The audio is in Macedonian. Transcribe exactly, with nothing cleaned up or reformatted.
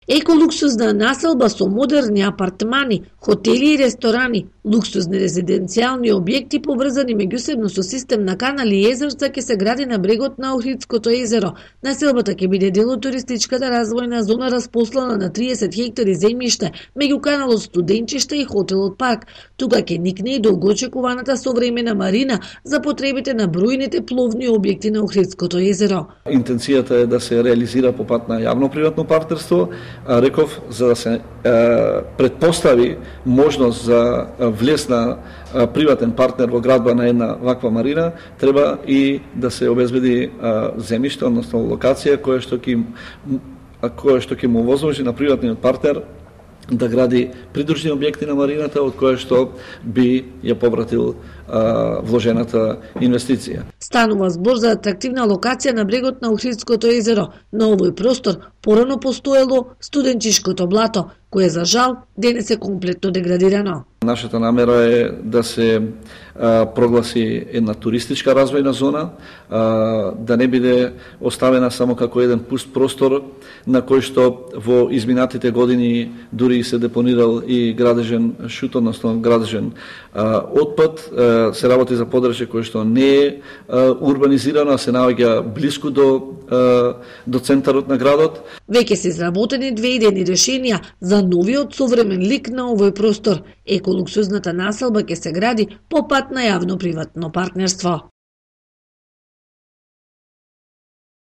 Еколуксузна населба со модерни апартмани, хотели и ресторани, луксузни резиденцијални објекти поврзани меѓусебно со систем на канали и езерца ќе се гради на брегот на Охридското езеро. Населбата ќе биде дел од туристичката развојна зона распослана на триесет хектари земјиште меѓу каналот Студенчиште и хотелот Парк. Тука ќе никне и долгоочекуваната современа марина за потребите на бројните пловни објекти на Охридското езеро. Интенцијата е да се реализира по пат на јавно-приватно партнерство. Реков, за да се е, предпостави можност за влез на е, приватен партнер во градба на една ваква марина, треба и да се обезбеди е, земјиште, односно локација која што ќе која што ќе му возможи на приватниот партнер да гради придружни објекти на марината, од која што би ја повратил а, вложената инвестиција. Станува збор за атрактивна локација на брегот на Охридското езеро. На овој простор порано постоело студенчишкото блато, кое за жал денес е комплетно деградирано. Нашата намера е да се а, прогласи една туристичка развојна зона, а, да не биде оставена само како еден пуст простор на кој што во изминатите години дури се депонирал и градежен шут, односно градежен а, отпад. А, се работи за подрачје кое што не е а, урбанизирано, а се наоѓа блиску до а, до центарот на градот. Веќе се изработени две идејни решенија за новиот современ лик на овој простор. Еколуксузната населба ќе се гради по пат на јавно-приватно партнерство.